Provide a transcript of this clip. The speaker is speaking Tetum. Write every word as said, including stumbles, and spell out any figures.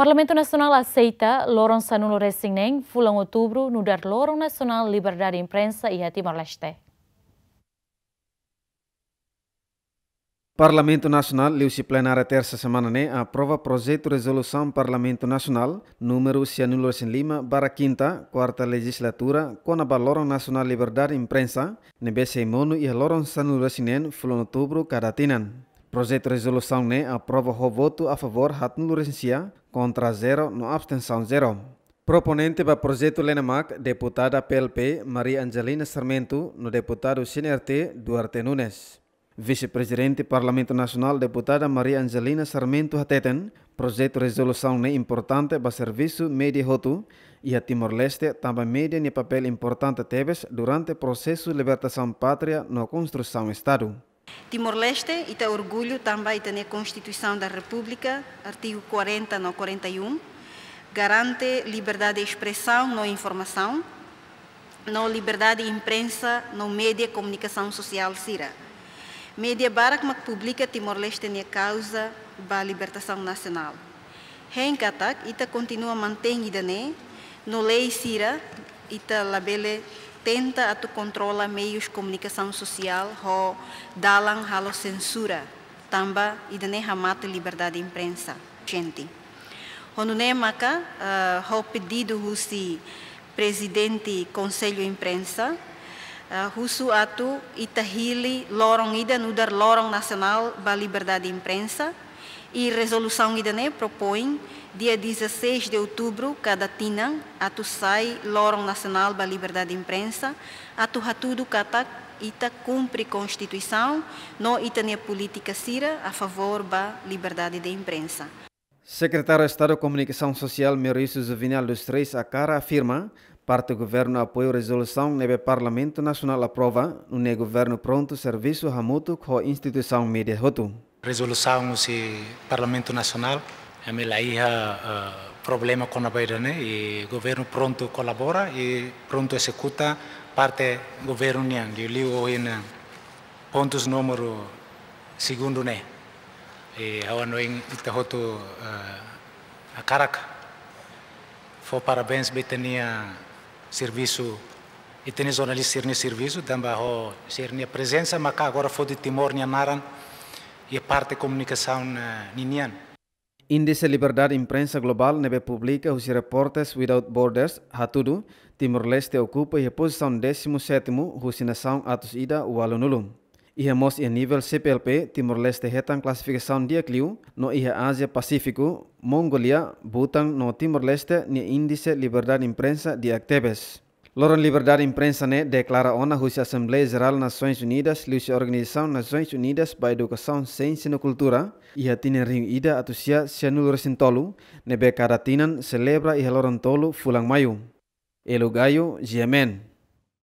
Parlamentu Nasionál aseita loron sanulu-resin-neen fulan Outubru nu'udar Loron Nasionál Liberdade Imprensa iha Timor-Leste. Parlamentu Nasionál liuhusi plenária tersa semana ne'e aprova projetu rezolusaun Parlamentu Nasionál númeru sianulu-resin-lima barra kinta, kuarta lejizlatura, kona-ba Loron Nasionál Liberdade Imprensa, ne'ebé sei monu iha loron sanulu-resin-neen fulan Outubru kada tinan. Projetu rezolusaun ne'e aprova ho votu a favór haatnulu-resin-sia, kontra zero no abstensaun zero. Proponente ba projetu lena mak deputada P L P Maria Angelina Sarmento no deputadu C N R T Duarte Nunes. Vise-Prezidente Parlamentu Nasionál deputada Maria Angelina Sarmento hateten, projetu rezolusaun ne'e importante ba servisu média hotu iha Timor-Leste, tanba média nia papél importante tebes durante prosesu libertasaun pátria no konstrusaun Estadu. Timor-Leste, ita orgullu tanba ita-nia Constituição da República, artigu kuarenta no kuarenta e um, garante liberdade de espresaun no informasaun, no liberdade imprensa no média komunikasaun sosiál sira. Média barak mak publika Timor-Leste nia kauza ba libertasaun nasionál. Hein katak, ita kontinua mantein ida-ne'e, no lei sira, ita labele tenta atu kontrola meius komunikasaun sosiál ho dalan halo sensura, tanba ida-ne'e hamate liberdade imprensa. Gente. Ho nune'e maka, eh, ho pedidu husi Prezidente Konsellu Imprensa, eh, husu atu ita hili loron ida nu'udar Loron Nasionál ba Liberdade Imprensa, i rezolusaun ida-ne'e propoin dia dezasseis de outubro kada tinan atu sai Loron Nasionál ba Liberdade Imprensa, atu hatudu katak ita kumpre Konstituisaun no ita-nia polítika sira a favór ba liberdade de imprensa. Sekretáriu Estadu Komunikasaun Sosiál Meuricio Juvenal dos Reis Akara afirma, parte governu apoiu rezolusaun ne'ebé Parlamentu Nasionál aprova, nune'e governu prontu servisu hamutuk ho instituisaun média hotu. Rezolusaun husi Parlamentu Nasionál, ami la iha, eh, problema kona-ba ida-ne'e, i governu prontu kolabora, i prontu ezekuta parte governu nian, liuliu ohin, eh, pontus númeru segundu ne'e. I ha'u hanoin ita hotu, eh, hakarak fó parabéns ba ita-nia servisu, ita-nia jornalista sira-nia servisu, tanba ho sira-nia prezensa maka agora foti Timor nia naran iha parte komunikasaun, eh, ninian. Índise Liberdade Imprensa Globál ne'ebé publika husi Reporters Without Borders hatudu, Timor-Leste okupa iha pozisaun désimu sétimu husi nasaun atus ida ualunulu. Iha mós iha nivel C P L P, Timor-Leste hetan klasifikasaun di'ak liu, no iha Ázia Pasífiku, Mongólia, Bután no Timor-Leste nia índise liberdade imprensa di'ak tebes. Loron Liberdade Imprensa ne'e deklara ona husi Asembleia Jerál Nasoins Unidas liuhusi Organizasaun Nasoins Unidas ba Edukasaun, Siénsia no Kultura, iha tinan rihun ida atus sia sianulu-resin-tolu, ne'ebé kada tinan selebra iha loron tolu fulan Maiu. Elo Gayo, G M N.